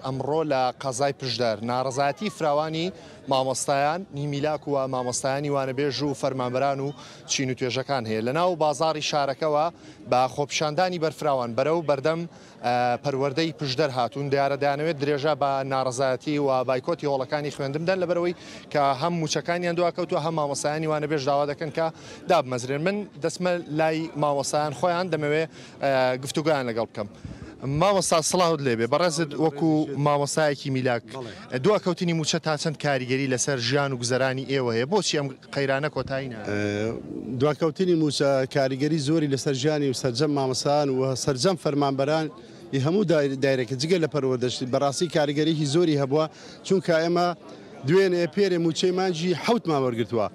ئەمڕۆ لە قەزای پشدەر ناڕەزایەتی فراوانی مامۆستایان ی میلاک و مامۆستایانی وانەبێژ و فەرمانبەران و چین و توێژەکان هەیە لەناو بازاڕی شارەکەوە بە خۆپیشاندانی بەرفراوان بەرەو بەردەم پەروەردەی پشدەر هاتوون دیارە دەیانەوێت درێژە بە ناڕەزایەتی و بایکۆتی هۆڵەکانی خوێندن بدەن لەبەرئەوەی کە هەم مووچەکانیان دواکەوتووە هەم مامۆستایانی وانەبێژ داوا دەکەن کە دابمەزرێن من دەچمە لای مامۆستایان خۆیان دەمەوێت گفتوگۆیان لەگەڵ بکەم. مامۆستا سڵاوت لێبێ بەڕێزت وەکو مامۆستایەکی میلاک دواکەوتنی مووچە تا چەند کاریگەری لەسەر ژیان و گوزەرانی ئێوە هەیە بۆچی ئەم قەیرانە کۆتایی نایەت؟ دواکەوتنی مووچە کاریگەری زۆری لەسەر ژیانی و سەرجەم مامۆستایان و سەرجەم فەرمانبەران ی هەموو دایرەکە جگە لە پەروەردەش بەڕاستی کاریگەریی زۆری هەبووە چونکە ئێمە دوێنێ پێرێ مووچەی مانگی حەوتمان وەرگرتووە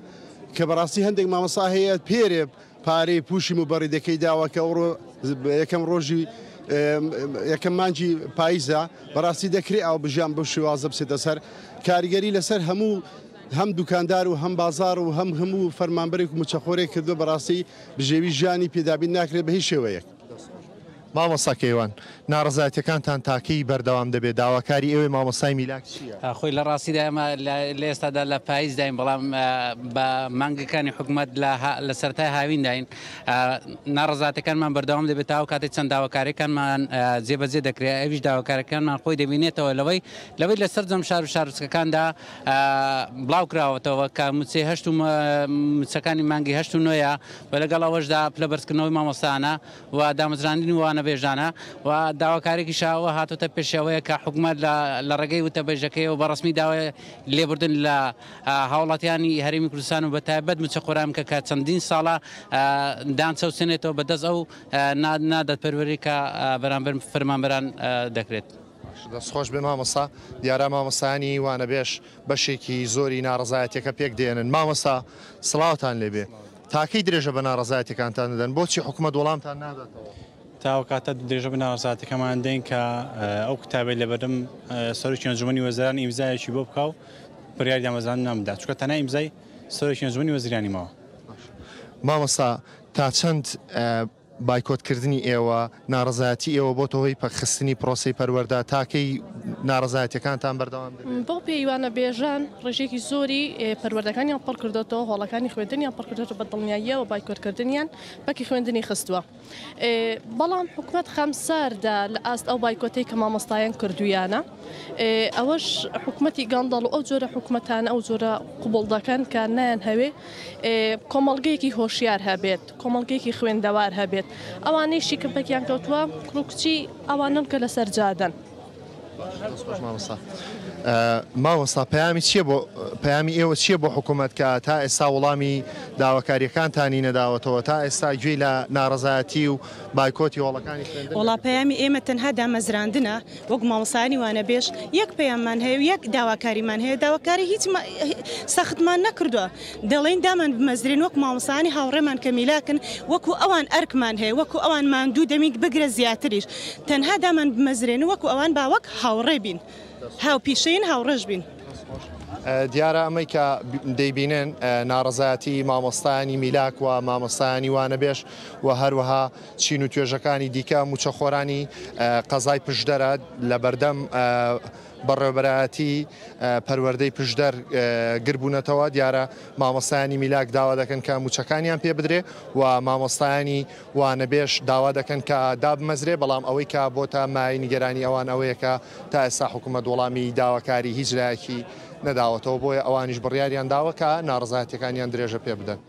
کە بەڕاستی هەندێک مامۆستا هەیە پێرێ پارەی پوشی موبەڕیدەکەی داوە کە ئەوڕۆ یەکەم ڕۆژی یەکەم مانگی پاییزە بەڕاستی دەکرێ ئاو بژیان بەو شێوازە بچێتە سەر کاریگەری لەسەر هەموو هەم دوکاندار و هەم بازار و هەم هەموو فەرمانبەرێک و موچەخۆرێک کردو بەڕاستی بژێوی ژیانی پێدابین ناکرێت بە هیچ شێوەیەک. مامۆستا کەیوان، ناڕەزایەتیەکانتان تا کەی بەردەوام دەبێت؟ داواکاری ئێوەی مامۆستای میلاک چییە؟ خۆی لە ڕاستیدا ئێمە لە ئێستادا لە پاییزداین، بەڵام بە مانگەکانی حکومەت لە سەرەتای هاوینداین. ناڕەزاتەکانمان بەردەوام دەبێت تا ئەو کاتەی چەند داواکاریەکانمان جێبەجێ دەکرێت، ئەویش داواکاریەکانمان خۆی دەبینێتەوە لەوەی لەوەی لە سەرجەم شار و شارۆچکەکاندا بڵاوکراوەتەوە کە مووچەی هەشت و مووچەکانی مانگی هەشت و نۆیە و لەگەڵ ئەوەشدا پلە بەرزکردنەوەی مامۆستایانە و دامەزراندنی وانەبێژانە و داواکارێکیش ئەوە هاتۆتە پێش ئەوەیە کە حکومەت لە ڕێگەی وتەبێژەکەیەوە بە ڕەسمی داوای لێبوردن لە هاوڵاتیانی هەرێمی کوردستان و بە تایبەت مووچەخۆران بکە کە چەندین ساڵە دان چەوسێنێتەوە بە دەست ئەو نادادپەروەری کە بەرامبەر فەرمانبەران دەکرێت. دەست خۆش بێ مامۆستا، دیارە مامۆستایانی وانەبێژ بەشێکی زۆری ناڕەزایەتیەکە پێک دێنن. مامۆستا سڵاوتان لێبێ. تاکەی درێژە بە ناڕەزایەتیەکانتان دەدەن؟ بۆچی حکومەت وەڵامتان ناداتەوە؟ تا ئەو کاتە درێژە بە ناڕەزایەتیەکەمان دەین کە ئەو کتابەی لەبەردەم سەرۆکی ئەنجومەنی وەزیران ئیمزایەکی بۆ بکا و بڕیاری دامەزراندنمان بدات، چونکە تەنها ئیمزای سەرۆکی ئەنجومەنی وەزیرانی ماوە. مامۆستا تا چەند بایکۆت کردنی ئێوە، ناڕەزایەتی ئێوە بۆتە هۆی پەکخستنی پرۆسەی پەروەردە، تا کەی ناڕەزایەتیەکانتان بەردەوام دەبێت؟ بەو پێی وانەبێژان ڕێژەیەکی زۆری پەروەردەکانیان پڕ کردۆتەوە، هۆڵەکانی خوێندنیان پڕ کردۆتەوە، بە دڵنیاییەوە بایکۆتکردنیان پەکی خوێندنی خستووە. بەڵام حکومەت خەمساردە لە ئاست ئەو بایکۆتەی کە مامۆستایان کردوویانە. ئەوەش حکومەتی گەندەڵ و ئەو جۆرە حکومەتانە ئەو جۆرە قبوڵ دەکەن کە نایانهەوێ کۆمەڵگەیەکی هۆشیار هەبێت. کۆمەڵگەیەکی خوێندەوار هەبێت ئەوانەیشی کە پەکیان کەوتووە کوڕ و کچی ئەوانەن کە لەسەر جادەن. مامۆستا مامۆستا پەیامی چییە بۆ پەیامی ئێوە چییە بۆ حکوومەت کە تا ئێستا وەڵامی داواکارییەکانتانی نەداوەتەوە تا ئێستا گوێی لە ناڕەزایەتی و بایکۆتی هۆڵەکانی خوێندن وەڵا پەیامی ئێمە تەنها دامەزراندنە وەک مامۆستایانی وانەبێژ یەک پەیاممان هەیە و یەک داواکاریمان هەیە داواکاری هیچ سەختمان نەکردووە دەڵێین دامان بمەزرێن وەک مامۆستایانی هاوڕێمان کە میلاکن وەکو ئەوان ئەرکمان هەیە وەکو ئەوان ماندوو دەبین بگرە زیاتریش تەنها دامان بمەزرێن وەکو ئەوان با وەک هاوڕێ بین هاوپیشەین هاوڕێش بین. دیارە ئەمەی کە دەیبینن ناڕەزایەتی مامۆستایانی میلاک و مامۆستایانی وانەبێژ و هەروەها چین و توێژەکانی دیکە مووچەخۆرانی قەزای پشدەرە لە بەردەم بەڕێوەبەرایەتی پەروەردەی پشدەر گربوونەتەوە، دیارە مامۆستایانی میلاک داوا دەکەن کە مووچەکانیان پێ بدرێ و مامۆستایانی وانەبێژ داوا دەکەن کە دابمەزرێ، بەڵام ئەوەی کە بۆتە مایەی نیگەرانی ئەوان ئەوەیە کە تا ئێستا حکوومەت وەڵامی داواکاری هیچ لایەکی نەداوەتەوە، بۆیە ئەوانیش بڕیاریان داوە کە ناڕەزایەتییەکانیان درێژە پێ بدەن.